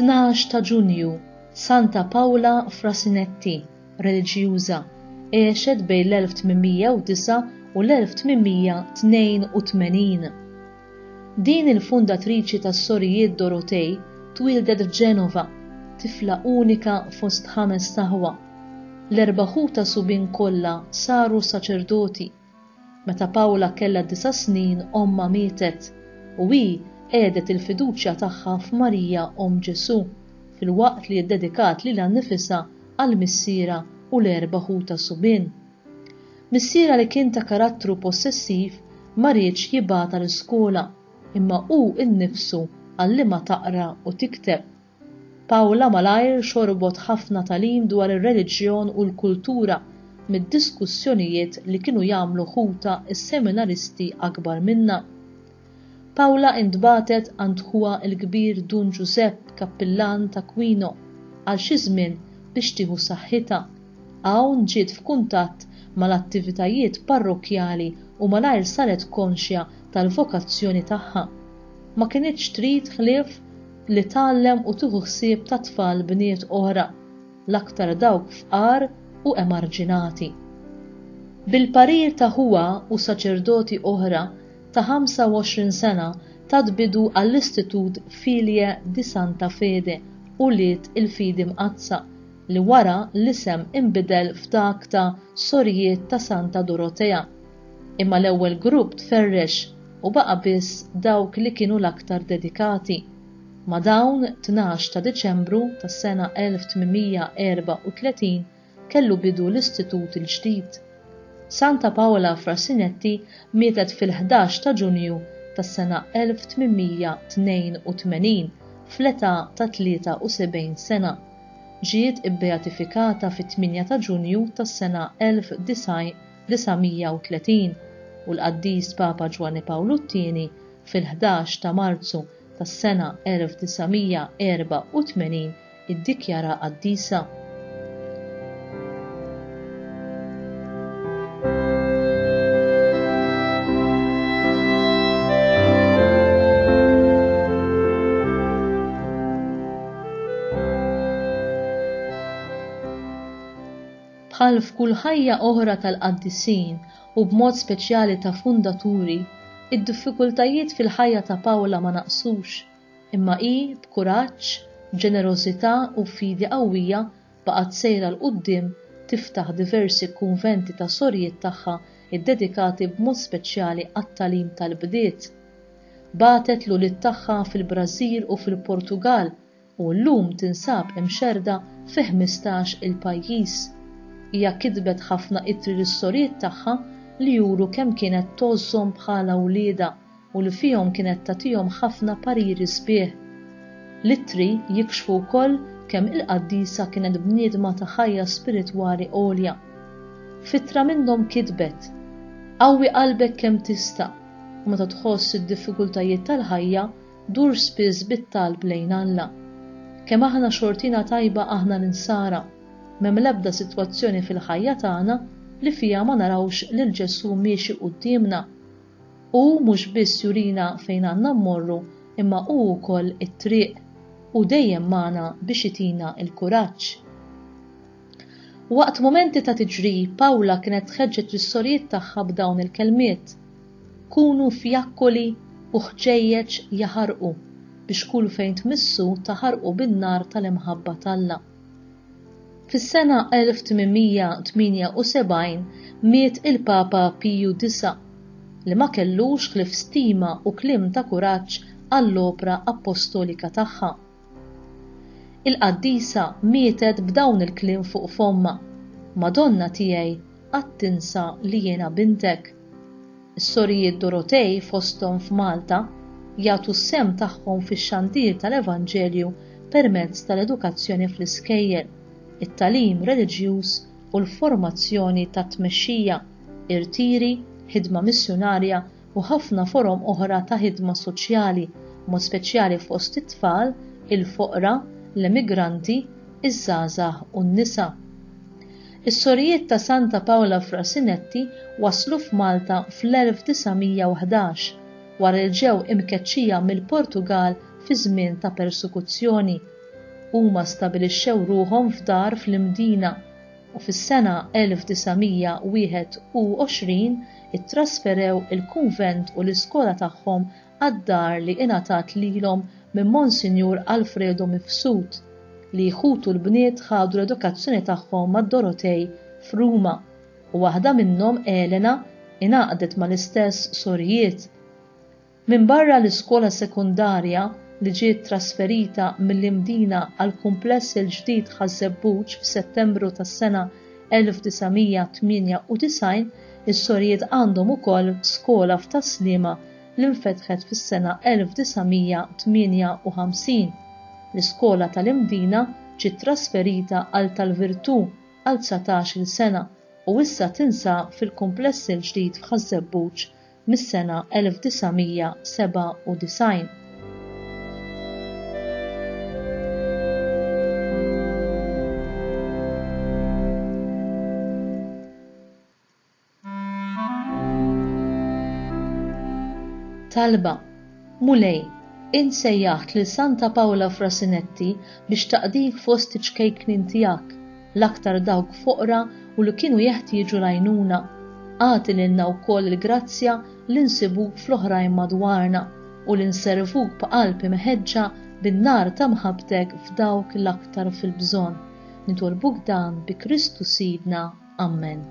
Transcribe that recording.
12 ta' Ġunju, Santa Pawla Frasinetti, reliġjuża, għexet bejn l-1809 u l-1882. Din il-fundatriċi tas-Sorijiet Dorotej twieldet f'Ġenova, tifla unika fost ħamest aħwa. L-erba' ħutha subien kollha saru saċerdoti. Meta Paola kellha disa' snin ommha mietet u hi qiegħdet il-fiduċja tagħha f'Marija Omm Ġesù filwaqt li ddedikat lilha nnifisha għal missierha u l-erba' ħutha subien. Missierha li kien ta' karattru possessiv ma riedx jibgħatha l-iskola imma hu nnifsu għallimha taqra u tikteb. Paula malajr xorbot ħafna tagħlim dwar ir-reliġjon u l-kultura mid-diskussjonijiet li kienu jagħmlu ħutha s-seminaristi akbar minnha. Paula intbagħtet għand ħuha l-kbir Dun Ġużepp, kappillan t'Aquino, għal xi żmien biex tieħu saħħitha. Hawn ġiet f'kuntatt mal-attivitajiet parrokkjali u malajr saret konxja tal-vokazzjoni tagħha. Ma kinitx trid ħlief li tgħallem u tieħu ħsieb ta' tfal bniet oħra, l-aktar dawk fqar u emarġinati. Bil-parir ta' ħuha u saċerdoti oħra, ta' 25 sena tat bidu għall-Istitut Figlie di Santa Fede, Ulied il-Fidi Mqaddsa, li wara l-isem inbidel f'dak ta' Sorijiet ta' Santa Dorotea. Imma l-ewwel grupp tferrex u baqa' biss dawk li kienu l-aktar dedikati. Ma' dawn, 12 ta' Diċembru tas-sena 1834 kellu bidu l-istitut il-ġdid. Santa Paola Frassinetti mietet fil-ħdax ta' Ġunju tas-sena 1882 fl-età ta' 73 sena. Ġiet ibbeatifikata fit-8 ta' Ġunju tas-sena 1930 u l-Qaddis Papa Ġwanni Pawlu t-Tieni fil-ħdax ta' Marzu tas-sena 1984 iddikjara qaddisa. Bħal f'kull ħajja oħra tal-qaddisin u b'mod speċjali ta' fundaturi, id-diffikultajiet fil-ħajja ta' Pawla ma naqsux, imma hi b'kuraġġ, b'ġenerożità u b'fidi qawwija baqgħet sejra 'l quddiem tiftaħ diversi kunventi ta' sorijiet tagħha ddedikati b'mod speċjali għat-tagħlim tal-bdiet. Bagħtet l-ulied tagħha fil-Brażil u fil-Portugall u llum tinsab imxerrda fi 15 il pajjiż. Hija kitbet ħafna ittri lis-sorijiet tagħha li juru kemm kienet tgħożżhom bħala wliedha u li fihom kienet tagħtihom ħafna pariri sbieħ. L-ittri jikxfu wkoll kemm il-qaddisa kienet bniedma ta' ħajja spiritwali għolja. F'ittra minnhom kitbet, Qawwi qalbek kemm tista' u meta tħoss id-diffikultajiet tal-ħajja, Dur spiss bit-talb lejn Alla. Kemm aħna xortina tajba aħna l-Insara! M'hemm l-ebda sitwazzjoni fil-ħajja tagħna li fiha ma narawx lil Ġesù miexi quddiemna. Hu mhux biss jurina fejn għandna mmorru imma hu wkoll it-triq. Hu dejjem magħna biex itina l-kuraġġ. Waqt mumenti ta' tiġrib, Pawla kienet tħeġġeġ lis-sorijiet tagħha b'dawn il-kelmiet, Kunu fjakkoli u ħġejjeġ jaħarqu biex kull fejn tmissu taħarqu bin-nar tal-imħabba t'Alla. Fis-sena 1878 miet il-Papa Piju Disa' li ma kellux ħlief stima u kliem ta' kuraġġ għall-opra appostolika tagħha. Il-qaddisa mietet b'dawn il-kliem fuq fommha, Madonna tiegħi, qatt tinsa li jiena bintek. Is-Sorijiet Dorotej fosthom f'Malta jagħtu s-sehem tagħhom fix-xandir tal-Evanġelju permezz tal-edukazzjoni fl-iskejjel, it-tagħlim reliġjuż u l-formazzjoni tat-tmexxija, irtiri, ħidma missjunarja u ħafna forom oħra ta' ħidma soċjali, b'mod speċjali fost it-tfal, il-foqra, l-emigranti, iż-żgħażagħ u n-nisa. Is-Sorijiet ta' Santa Paola Frasinetti waslu f'Malta fl-1911, wara li ġew imkeċċija mill-Portugall fi żmien ta' persekuzzjoni. Huma stabilixxew ruħhom f'dar fl-Imdina u fis-sena 1921 ittrasferew il-kunvent u l-iskola tagħhom għad-dar li ingħatat lilhom minn Monsinjur Alfredo Mifsud, li ħutu l-bniet ħadu l-edukazzjoni tagħhom mad-Dorotej f'Ruma u waħda minnhom, Elena, ingħaqdet mal-istess sorijiet. Minbarra l-iskola sekondarja li ġiet trasferita mill-Imdina għall-kumpless il-ġdid Ħaż-Żebbuġ f'Settembru tas-sena 1998, is-sorijiet għandhom ukoll skola f'Tas-Sliema li nfetħet fis-sena 1958. L-iskola tal-Imdina ġiet trasferita għal Tal-Virtù għal 19-il sena u issa tinsab fil-kumpless il-ġdid f'Ħaż-Żebbuġ mis-sena 1997. Talba, Mulej, int sejjaħt lil Santa Pawla Frasinetti biex taqdik fost iċ-ċkejknin tiegħek, l-aktar dawk foqra u li kienu jeħtieġu l-għajnuna. Agħti lilna wkoll il-grazzja li nsibuk fl-oħrajn madwarna u li nservuk b'qalb imħeġġa bin-nar ta' mħabbtek f'dawk l-aktar fil-bżonn. Nitolbuk dan bi Kristu Sidna. Ammen.